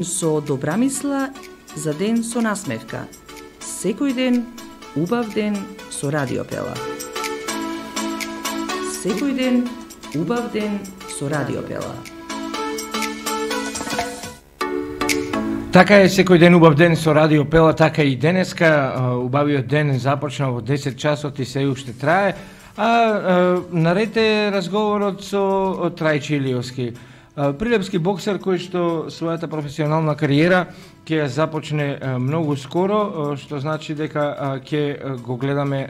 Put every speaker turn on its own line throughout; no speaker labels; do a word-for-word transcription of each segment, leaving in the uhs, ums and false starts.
Со добра мисла за ден со насмевка. Секој ден, убав ден со Радио Пела. Секој ден, убав ден со Радио Пела.
Така е, секој ден убав ден со Радио Пела, така и денеска. Убавиот ден започна во десет часот и се уште трае. А, а наред е разговорот со Трајче Илиевски. Прилепски боксер кој што својата професионална кариера ќе ја започне многу скоро, што значи дека ќе го гледаме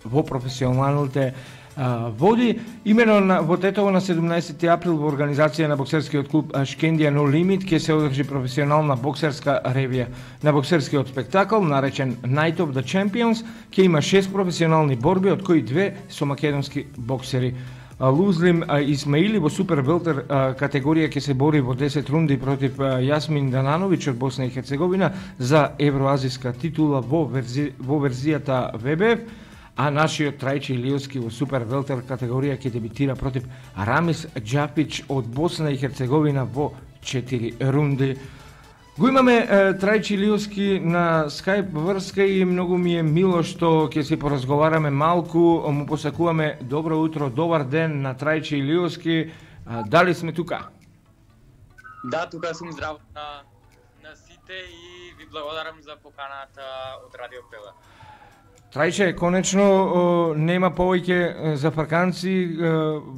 во професионалните води. Имено на, во Тетово на седумнаесети април во организација на боксерскиот клуб Шкендија No Limit ќе се одржи професионална боксерска ревија. На боксерскиот спектакл, наречен Night of the Champions, ќе има шест професионални борби, од кои две со македонски боксери. Лузлим Исмаили во супер велтер категорија ќе се бори во десет рунди против Јасмин Данановиќ од Босна и Херцеговина за евроазиска титула во, верзи, во верзијата В Б Ф, а нашиот Трајче Илиевски во супер велтер категорија ќе дебитира против Рамис Џапич од Босна и Херцеговина во четири рунди. Го имаме Трајче Илиевски на скајп врска и многу ми е мило што ќе се поразговараме малку. Му посакуваме добро утро, добар ден на Трајче Илиевски. Дали сме тука?
Да, тука сум, здраво на, на сите и ви благодарам за поканата од Радио Пела.
Трајче, конечно нема повеќе зафрканци,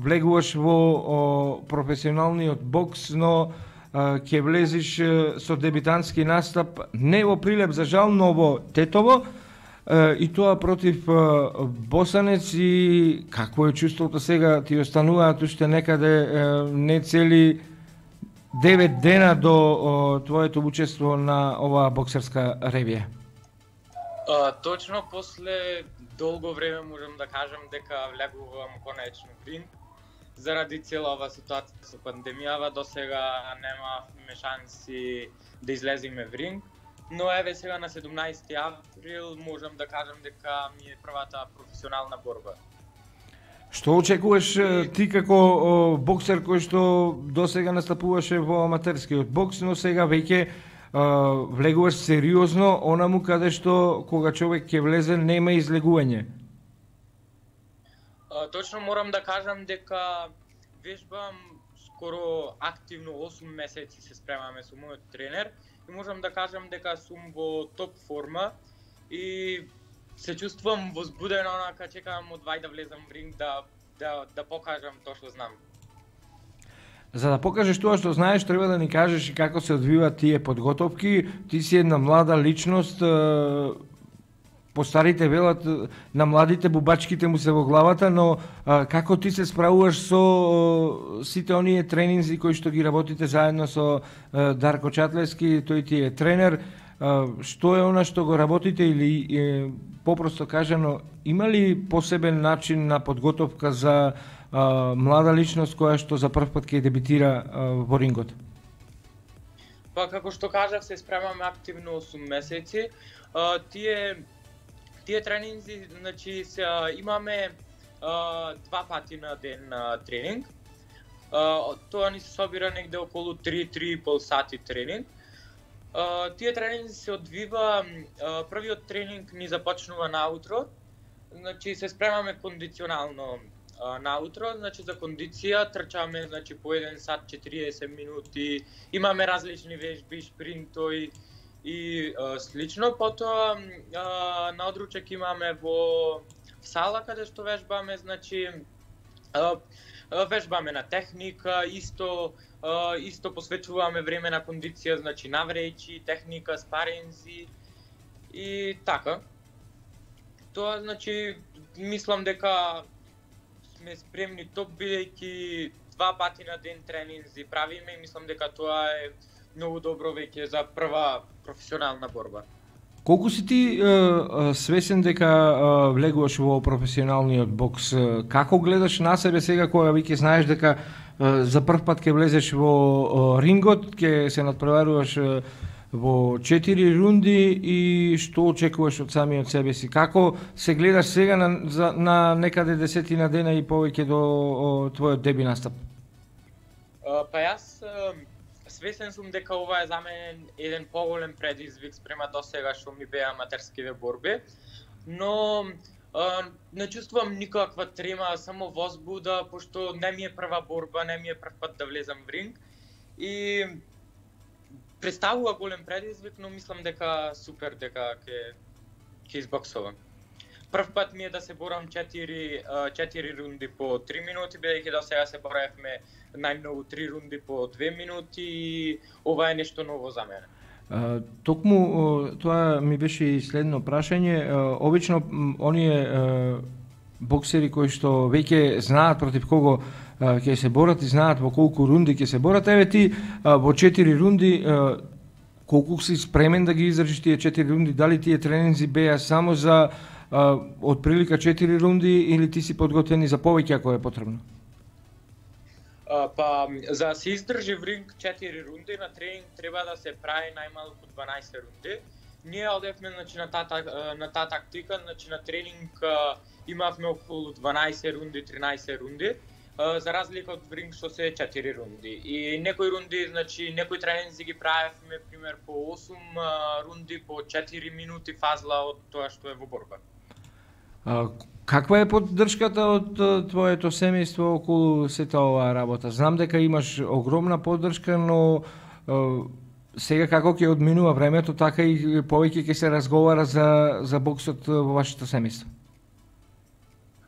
влегуваш во професионалниот бокс, но ќе влезиш со дебитантски настап не во Прилеп, за жал, но во Тетово, и тоа против босанец. И какво е чувството сега? Ти остануваат уште некаде не цели девет дена до твоето учество на оваа боксерска ревија.
А, точно после долго време можам да кажам дека влегувам конечно в ринг. Заради цела ова ситуација со пандемијава, до сега немавме шанси да излеземе в ринг, но еве сега на седумнаесети април можам да кажам дека ми е првата професионална борба.
Што очекуваш ти како боксер кој што до сега настапуваше во аматерскиот бокс, но сега веќе влегуваш сериозно онаму каде што кога човек ќе влезе нема излегување?
Точно морам да кажам дека вежбам скоро активно осум месеци, се спремаме со мојот тренер и можам да кажам дека сум во топ форма и се чувствувам возбуден, онака чекам одвај да влезам в ринг да, да, да покажам тоа што знам.
За да покажеш тоа што знаеш, треба да ни кажеш и како се одвиваат тие подготовки. Ти си една млада личност, постарите велат на младите бубачките му се во главата, но а, како ти се справуваш со а, сите оние тренинзи кои што ги работите заедно со а, Дарко Чатлевски, тој ти е тренер, а, што е она што го работите или е, попросто кажано, има ли посебен начин на подготовка за а, млада личност која што за прв пат ќе дебитира а, во рингот?
Па како што кажав, се спремаме активно осум месеци. А, тие Тие тренинзи, значи, се, имаме а, два пати на ден а, тренинг. А, тоа ни се собира негде околу три до три и пол сати тренинг. А, тие тренинзи се одвива, а, првиот тренинг ни започнува наутро. Значи, се спремаме кондиционално а, наутро, значи за кондиција трчаме, значи, по еден сат четириесет минути. Имаме различни вежби, шпринтои и а, слично. Потоа а, на одручек имаме во сала каде што вежбаме, значи а, вежбаме на техника, исто а, исто посветуваме време на кондиција, значи наврејчи, техника, спаринзи и така. Тоа, значи, мислам дека сме спремни топ, бидејќи два пати на ден тренинзи правиме и мислам дека тоа е многу добро веќе за прва професионална борба.
Колку си ти е, свесен дека е, влегуваш во професионалниот бокс? Како гледаш на себе сега кога веќе знаеш дека е, за прв пат ќе влезеш во е, рингот, ќе се надпреваруваш е, во четири рунди и што очекуваш од самиот себе си? Како се гледаш сега на, за, на некаде десетина дена и повеќе до о, твојот деби настап?
Uh, па јас свесен сум дека ова е за мене еден поголем предизвик спрема досега што ми беа аматерскиве борби, но а, не чувствувам никаква трема, само возбуда, пошто не ми е прва борба, не ми е прв пат да влезам в ринг и представува голем предизвик, но мислам дека супер дека ќе ќе избоксувам. Прв пат ми е да се борам четири, четири рунди по три минути, бидејќи до сега се боравме најмногу три рунди по две минути и ова е нешто ново за мене.
Uh, токму тоа ми беше и следно прашање. Uh, обично оние uh, боксери кои што веќе знаат против кого uh, ќе се борат и знаат во колку рунди ќе се борат, еве ти uh, во четири рунди uh, колку си спремен да ги издржиш тие четири рунди? Дали тие тренинзи беа само за uh, од прилика четири рунди или ти си подготвен за повеќе ако е потребно?
Uh, па, за да се издржи в ринг четири рунди, на тренинг треба да се прави најмалку дванаесет рунди. Ние одевме значи, на, таа, на таа тактика, значи, на тренинг uh, имавме околу дванаесет рунди, тринаесет рунди, uh, за разлика од ринг што се четири рунди. И некои рунди, значи, некои тренинзи ги правевме, пример, по осум uh, рунди, по четири минути фазла од тоа што е во борба.
Uh, Каква е поддршката од твоето семејство околу сета оваа работа? Знам дека имаш огромна поддршка, но е, сега како ќе одминува времето, така и повеќе ќе се разговара за, за боксот во вашето семејство.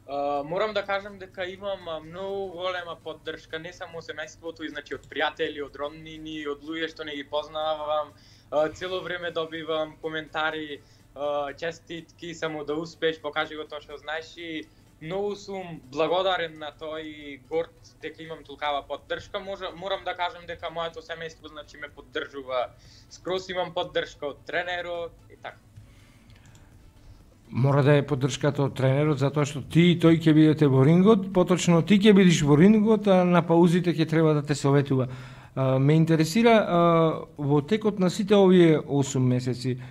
Uh, морам да кажам дека имам многу голема поддршка, не само семејството, и значи од пријатели, од роднини, од луѓе што не ги познавам. Uh, цело време добивам коментари, Uh, честитки, само да успееш, покажи го тоа што знаеш и многу сум благодарен на тоа и горд дека имам толкава поддршка. Може, морам да кажам дека моето семејство значи ме поддржува. Скрос имам поддршка од тренерот и така.
Мора да е поддршката од тренерот затоа што ти и тој ќе бидете во рингот, поточно ти ќе бидеш во рингот, а на паузите ќе треба да те советува. Uh, ме интересира uh, во текот на сите овие осум месеци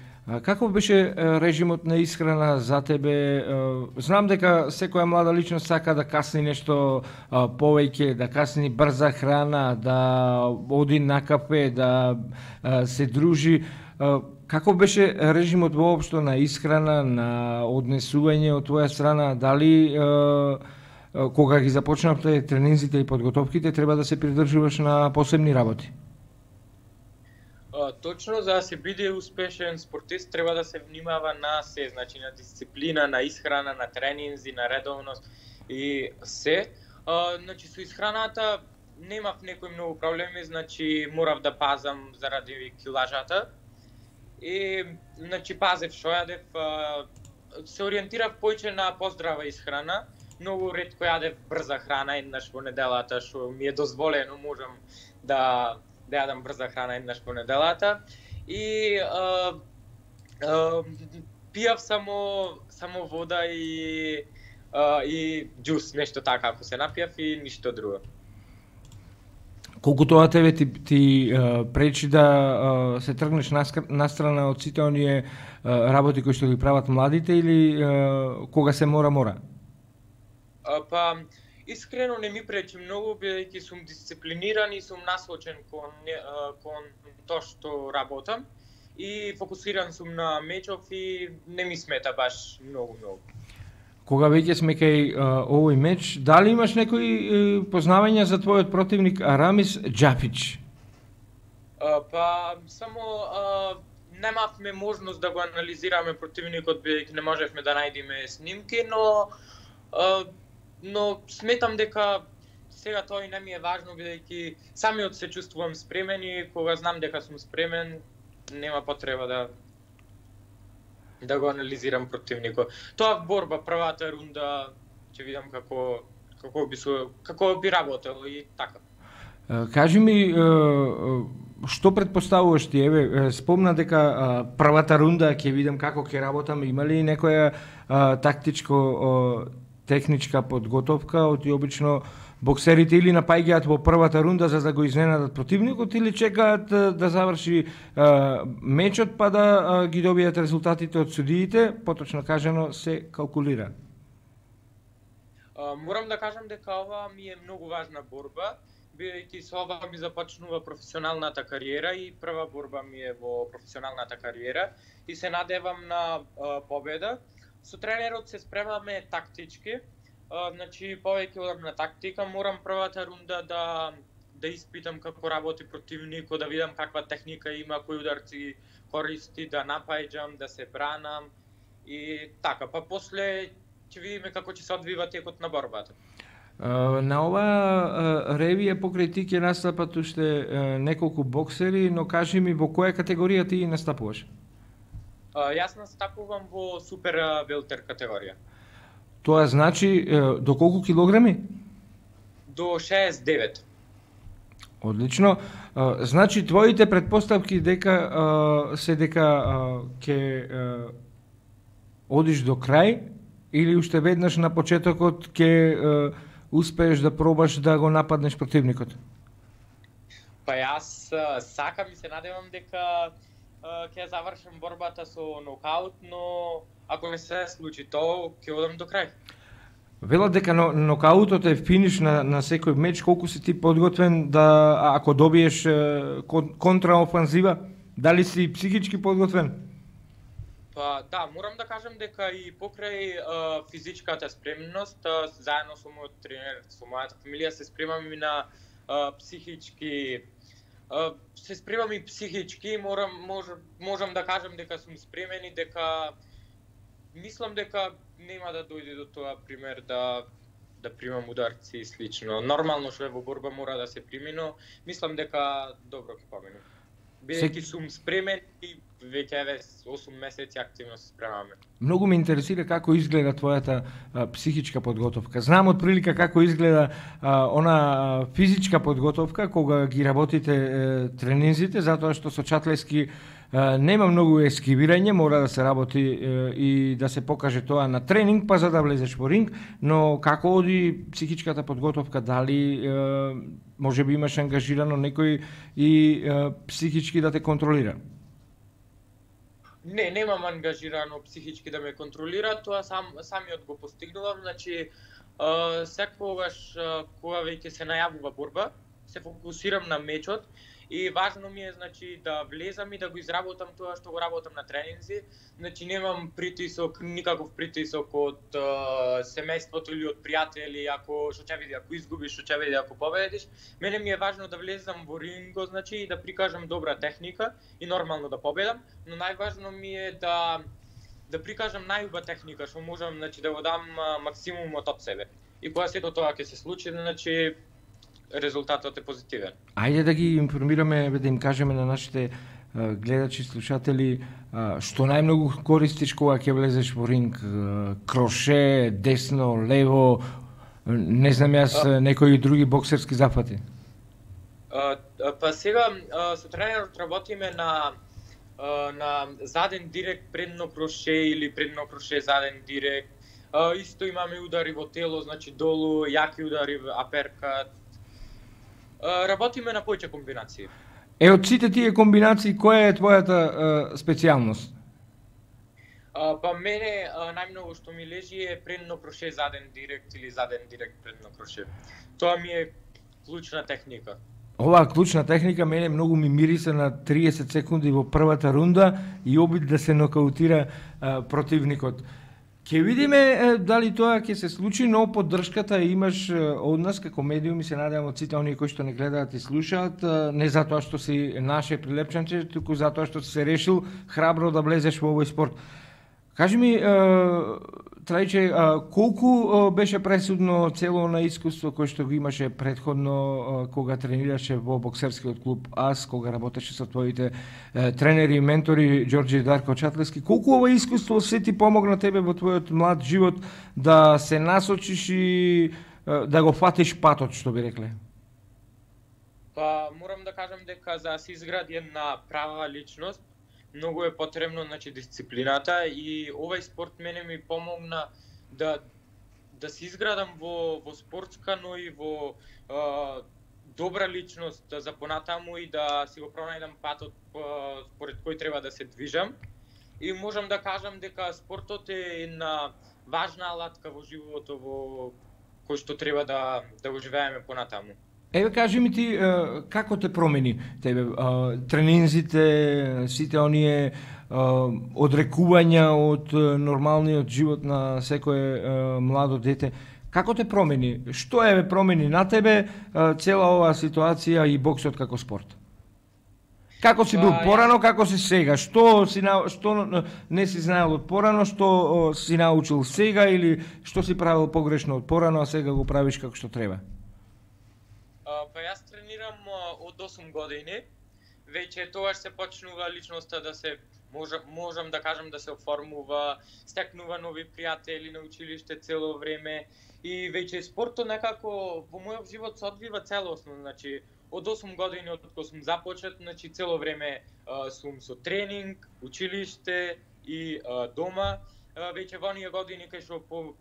како беше режимот на исхрана за тебе? Знам дека секоја млада личност сака да касни нешто повеќе, да касни брза храна, да оди на кафе, да се дружи. Како беше режимот воопшто на исхрана, на однесување од твоја страна? Дали кога ги започнавте тренинзите и подготовките треба да се придржуваш на посебни работи?
Uh, точно, за да се биде успешен спортист треба да се внимава на се, значи на дисциплина, на исхрана, на тренинзи, на редовност и се. Uh, значи со исхраната немав некои многу проблеми, значи морав да пазам заради килажата. И значи пазев што јадев, uh, се ориентирав поиќе на поздрава исхрана. Многу ретко јадев брза храна еднаш во неделата, што ми е дозволено, можам да да јадам брза храна еднаш по неделата и а, а, пијав само само вода и а, и џус, нешто така, ако се напијав и ништо друго.
Колку тоа тебе ти, ти а, пречи да а, се тргнеш настрана од сите оние а, работи кои што ги прават младите или а, кога се мора мора?
А, па искрено не ми пречи многу, бидејќи сум дисциплиниран и сум насочен кон, кон тоа што работам и фокусиран сум на мечов и не ми смета баш многу многу.
Кога веќе сме кај овој меч, дали имаш некои познавања за твојот противник Арамис Џафич?
А, па само а, немавме можност да го анализираме противникот, бидејќи не можевме да најдеме снимки, но а, но сметам дека сега тоа и не ми е важно, бидејќи самиот се чувствувам спремен и кога знам дека сум спремен, нема потреба да да го анализирам противникот. Тоа борба, првата рунда, ќе видам како како би со како би работел и така.
Кажи ми што претпоставуваш ти? Еве, спомна дека првата рунда ќе видам како ќе работам, има ли некоја тактичко техничка подготовка, оти обично боксерите или напаѓаат во првата рунда за да го изненадат противникот или чекаат да заврши а, мечот па да а, ги добијат резултатите од судиите, поточно кажано се калкулира?
А, морам да кажам дека ова ми е многу важна борба, бидејќи со ова ми започнува професионалната кариера и прва борба ми е во професионалната кариера и се надевам на а, победа. Со тренерот се спремаме тактички, а, значи повеќе одам на тактика, морам првата рунда да да испитам како работи противникот, да видам каква техника има, кои ударци користи, да напаѓам, да се бранам и така, па после ќе видиме како ќе се одвива текот на борбата.
Uh, на ова uh, ревија покрај ти ќе настапат уште uh, неколку боксери, но кажи ми во која категорија ти настапуваш?
Uh, јас настапувам во супер uh, велтер категорија.
Тоа значи uh, до колку килограми?
До шеесет и девет.
Одлично. Uh, значи твоите претпоставки дека uh, се дека uh, ќе uh, одиш до крај или уште веднаш на почетокот ќе uh, успееш да пробаш да го нападнеш противникот?
Па јас uh, сакам и се надевам дека uh, ќе завршам борбата со нокаут, но ако не се случи тоа, ќе одам до крај.
Велат дека нокаутот е финиш на, на секој меч. Колку си ти подготвен да, ако добиеш кон, контраофанзива, дали си психички подготвен?
Па да, морам да кажам дека и покрај а, физичката спремност, а, заедно со мојот тренер, со мојата фамилија се спремаме на а, психички а, се спремам и психички, морам мож, можам да кажам дека сум спремен и дека мислам дека нема да дојде до тоа пример да да примам ударци и слично. Нормално што е во борба мора да се прими, но мислам дека добро ќе помине. Бидејќи сум спремен и веќе еве осум месеци активно се спремаме.
Многу ме интересира како изгледа твојата а, психичка подготовка. Знам од прилика како изгледа а, она а, физичка подготовка кога ги работите е, тренинзите, затоа што со чатлески а, нема многу ескивирање, мора да се работи е, и да се покаже тоа на тренинг, па за да влезеш во ринг, но како оди психичката подготовка, дали е, може би имаш ангажирано некој и е, психички да те контролира?
Не, немам ангажирано психички да ме контролира, тоа сам самиот го постигнувам, значи uh, секогаш uh, кога веќе се најавува борба, се фокусирам на мечот и важно ми е значи да влезам и да го изработам тоа што го работам на тренинзи, значи немам притисок, никаков притисок од uh, семејството или од пријатели, ако што ќе види ако изгубиш, што ќе види ако победиш. Мене ми е важно да влезам во ринго, значи и да прикажам добра техника и нормално да победам, но најважно ми е да да прикажам најуба техника што можам, значи да го дам uh, максимумот од себе. И кога сето тоа ќе се случи, значи резултатот е позитивен.
Ајде да ги информираме, да им кажеме на нашите а, гледачи, слушатели, а, што најмногу користиш кога ќе влезеш во ринг? А, кроше, десно, лево, не знам јас, а, некои други боксерски зафати?
А, па сега а, со тренерот работиме на а, на заден директ предно кроше или предно кроше заден директ. А, исто имаме удари во тело, значи долу, јаки удари, аперкат. Работиме на повеќе комбинации.
Е, од сите тие комбинации, која е твојата е, специјалност?
А, па мене а, најмногу што ми лежи е предно кроше заден директ или заден директ предно кроше. Тоа ми е клучна техника.
Оваа клучна техника мене многу ми мириса на триесет секунди во првата рунда и обид да се нокаутира а, противникот. Ќе видиме е, дали тоа ќе се случи, но поддршката имаш е, од нас како медиум и се надевам од сите оние кои што не гледаат и слушаат, е, не затоа што си наше прилепчанче, туку затоа што си се решил храбро да влезеш во овој спорт. Кажи ми, е, Трајче, е, колку е, беше пресудно цело на искуство кој што го имаше предходно е, кога тренираше во боксерскиот клуб АС, кога работеше со твоите е, тренери и ментори Ѓорѓе и Дарко Чатлески? Колку ова искуство се ти помогна тебе во твојот млад живот да се насочиш и е, да го фатиш патот, што би рекле?
Па морам да кажам дека за да се изгради една права личност, многу е потребно, значи, дисциплината и овој спорт мене ми помогна да да се изградам во во спортска, но и во а, добра личност за понатаму и да си го пронајдам патот а, според кој треба да се движам. И можам да кажам дека спортот е една важна алатка во животот во кој што треба да да го живееме понатаму.
Еве кажи ми ти е, како те промени тебе е, тренинзите, сите оние е, одрекувања од е, нормалниот живот на секое е, младо дете. Како те промени? Што еве промени на тебе е, цела оваа ситуација и боксот како спорт? Како си бил порано, како си сега? Што си на, што не си знаел од порано, што о, си научил сега или што си правил погрешно од порано, а сега го правиш како што треба?
А, па јас тренирам а, од осум години. Веќе тогаш се почнува личноста да се можам, можам да кажам да се оформува, стекнува нови пријатели на училиште цело време и веќе спортот некако во мојот живот се одвива целосно, значи од осум години од кога сум започет, значи цело време а, сум со тренинг, училиште и а, дома. А, веќе во оние години кај што по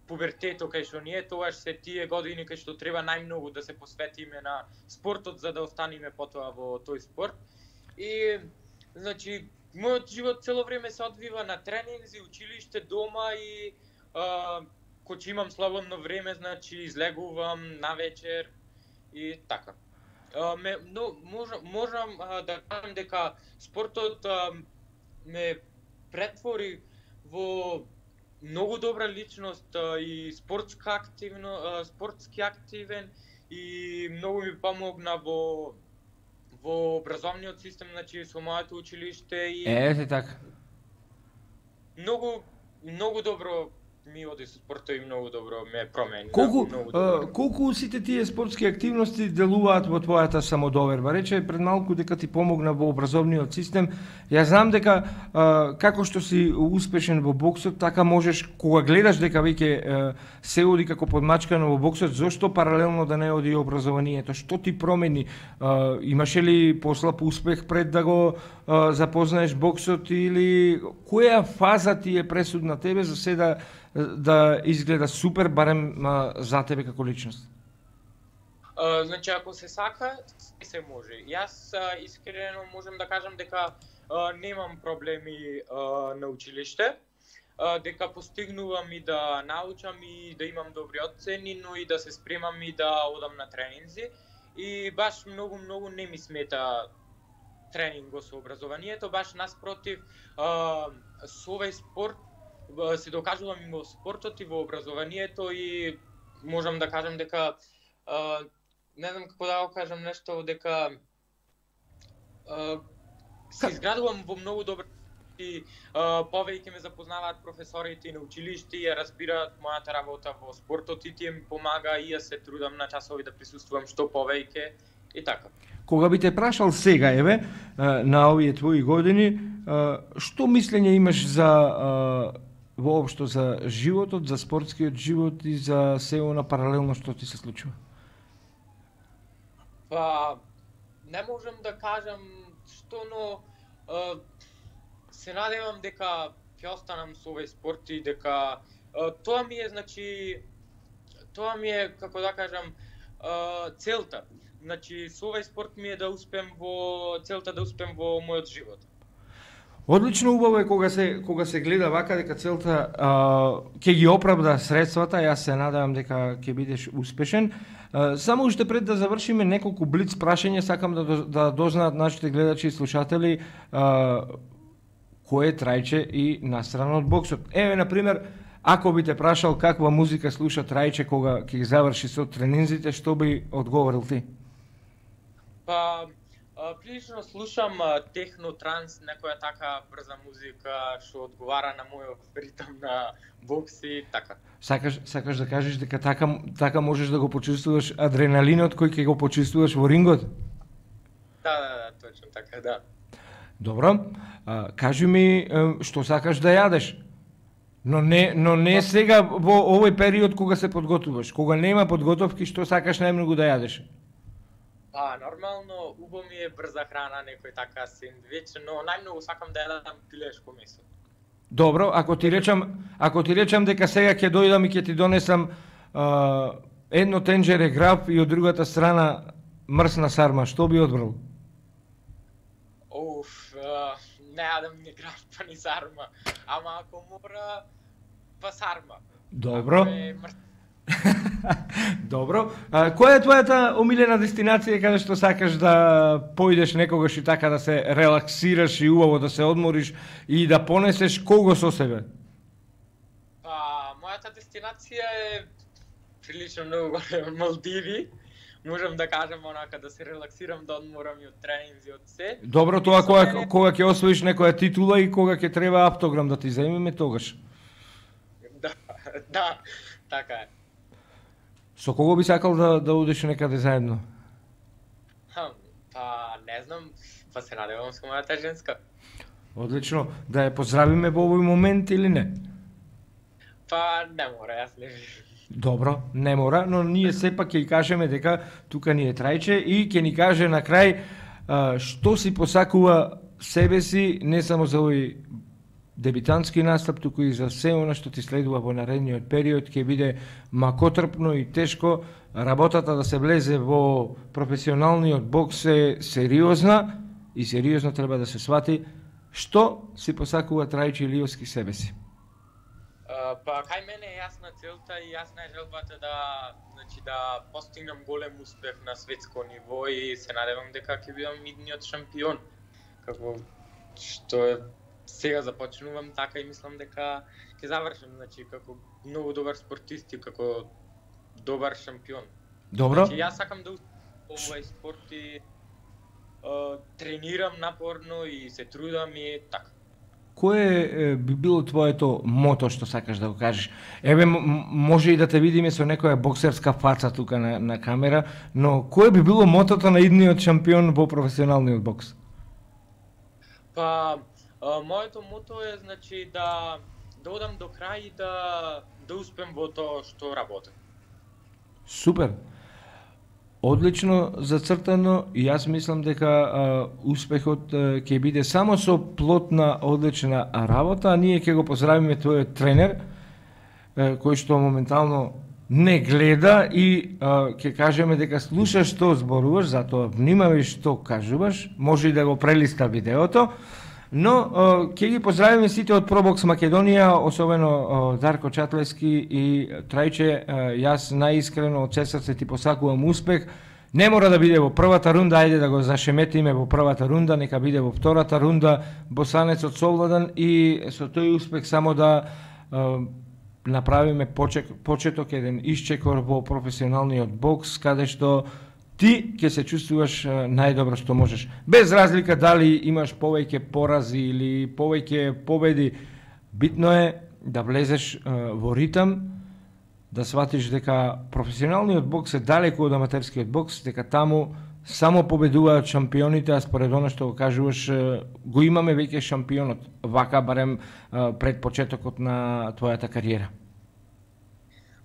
пубертетот кај што ние, тогаш се тие години кај што треба најмногу да се посветиме на спортот за да останеме потоа во тој спорт. И значи мојот живот цело време се одвива на тренинзи, училиште, дома и а, кога имам слободно време, значи излегувам навечер и така. А, ме, но, можам, можам а, да кажам дека спортот а, ме претвори во многу добра личност а, и спортска активно, а, спортски активен и многу ми помогна во во образовниот систем, значи со моето училиште и
Ете така.
многу многу добро ми оди со спортот и многу добро ме промени.
Колку
многу
а, колку сите тие спортски активности делуваат во твојата самодоверба? Рече пред малку дека ти помогна во образовниот систем. Ја знам дека а, како што си успешен во боксот, така можеш кога гледаш дека веќе се оди како подмачкано во боксот, зошто паралелно да не оди и образованието? Што ти промени? А, имаше ли послаб успех пред да го а, запознаеш боксот или која фаза ти е пресудна тебе за се да да изгледа супер барем а, за тебе како личност?
А, значи ако се сака, се може. Јас а, искрено можам да кажам дека а, немам проблеми а, на училиште, а, дека постигнувам и да научам и да имам добри оцени, но и да се спремам и да одам на тренинзи. И баш многу многу не ми смета тренинго со образованието, баш наспротив, а, со овој спорт се докажувам и во спортот и во образованието и можам да кажам дека а, не знам како да го кажам нешто, дека а, се изградувам во многу добри и а, повеќе ме запознаваат професорите и на училиште и ја разбираат мојата работа во спортот и тие ми помага и јас се трудам на часови да присуствувам што повеќе и така.
Кога би те прашал сега, еве, на овие твои години, што мислење имаш за воопшто за животот, за спортскиот живот и за се она паралелно што ти се случува?
Па, не можам да кажам што, но а, се надевам дека ќе останам со овој спорт и дека а, тоа ми е, значи, тоа ми е, како да кажам, а, целта. Значи, со овој спорт ми е да успеам во целта да успеам во мојот живот.
Одлично, убаво е кога се кога се гледа вака дека целта а, ќе ги оправда средствата. Јас се надевам дека ќе бидеш успешен. А, само уште пред да завршиме неколку блиц прашања, сакам да да дознаат нашите гледачи и слушатели а, кој е Трајче и настрана од боксот. Еве на пример, ако би те прашал каква музика слуша Трајче кога ќе ги заврши со тренинзите, што би одговорил ти?
Па, прилично слушам техно, транс, некоја така брза музика што одговара на мојот ритм на бокс и така.
Сакаш сакаш да кажеш дека така така можеш да го почувствуваш адреналинот кој ќе го почувствуваш во рингот?
Да, да, да, точно така, да.
Добро. А, кажи ми што сакаш да јадеш? Но не но не сега во овој период кога се подготвуваш, кога нема подготовки, што сакаш најмногу да јадеш?
Па, нормално, убаво ми е брза храна, некој така сендвич, но најмногу сакам да јадам пилешко месо.
Добро, ако ти речам, ако ти речам дека сега ќе дојдам и ќе ти донесам а, едно тенџере граб и од другата страна мрсна сарма, што би одбрал?
Оф, а, не јадам ни граб, па ни сарма, ама ако мора, па сарма.
Добро. Добро. А, која е твојата омилена дестинација каде што сакаш да поидеш некогаш и така да се релаксираш и убаво да се одмориш и да понесеш кого со себе?
Па, мојата дестинација е прилично многу Малдиви. Можам да кажам онака да се релаксирам, да одморам и од тренинзи, од се.
Добро, тоа
Со
кога
мене-
кога ќе освоиш некоја титула и кога ќе треба автограм да ти земеме тогаш.
Да, да, така е.
Со кого би сакал да да одиш некаде заедно?
Хм, па не знам, па се надевам со мојата женска.
Одлично. Да ја поздравиме во овој момент или не?
Па не мора, јас не живеам.
Добро, не мора, но ние сепак ќе ја кажеме дека тука ни е Трајче и ќе ни каже на крај а, што си посакува себе си, не само за овој дебитантски настап, туку и за се она што ти следува во наредниот период, ќе биде макотрпно и тешко. Работата да се влезе во професионалниот бокс е сериозна и сериозно треба да се свати. Што си посакува Трајче Илиевски себе си?
А, па кај мене е јасна целта и јасна е желбата да, значи да постигнам голем успех на светско ниво и се надевам дека ќе бидам идниот шампион. Како што е сега започнувам така и мислам дека ќе завршам, значи како многу добар спортист и како добар шампион.
Добро?
Значи јас сакам да успеам во овој спорт и а, тренирам напорно и се трудам и така.
Кое е, би било твоето мото што сакаш да го кажеш? Еве, м- може и да те видиме со некоја боксерска фаца тука на, на камера, но кое би било мотото на идниот шампион во професионалниот бокс?
Па, а, моето мото е значи да да одам до крај и да да успеам во тоа што работам.
Супер. Одлично зацртано и јас мислам дека а, успехот а, ќе биде само со плотна, одлична работа, а ние ќе го поздравиме твојот тренер, а, кој што моментално не гледа и а, ќе кажеме дека слушаш што зборуваш, затоа внимавај што кажуваш, може и да го прелиста видеото, но а, ќе ги поздравиме сите од Пробокс Македонија, особено а, Дарко Чатлески и Трајче, а, јас најискрено од се срце ти посакувам успех. Не мора да биде во првата рунда, ајде да го зашеметиме во првата рунда, нека биде во втората рунда, босанецот совладан и со тој успех само да а, направиме почек, почеток, еден исчекор во професионалниот бокс, каде што ти ќе се чувствуваш а, најдобро што можеш. Без разлика дали имаш повеќе порази или повеќе победи, битно е да влезеш а, во ритам, да сватиш дека професионалниот бокс е далеку од аматерскиот бокс, дека таму само победуваат шампионите, а според оно што го кажуваш, а, го имаме веќе шампионот, вака барем а, пред почетокот на твојата кариера.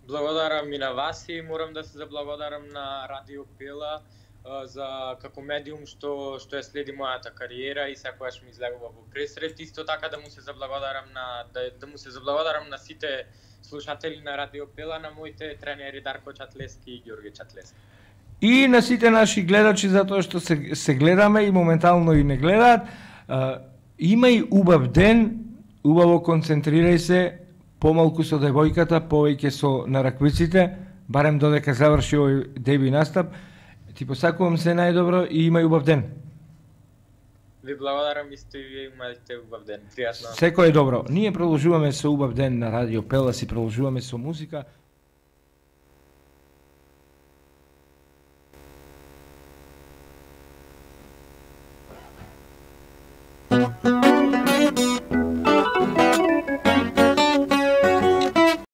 Благодарам и на вас и морам да се заблагодарам на Радио Пела а, за како медиум што што ја следи мојата кариера и секогаш ми излегува во пресрет. Исто така да му се заблагодарам на да, да му се заблагодарам на сите слушатели на Радио Пела, на моите тренери Дарко Чатлески и Ѓорги Чатлески.
И на сите наши гледачи, затоа што се, се гледаме и моментално и не гледаат, а, имај убав ден, убаво концентрирај се, помалку со девојката, повеќе со нараквиците, барем додека заврши овој деби настап. Ти посакувам се најдобро и имај убав ден.
Ви благодарам исто и вие имате убав ден. Пријатно.
Секој е добро. Ние продолжуваме со убав ден на Радио Пела, си продолжуваме со музика.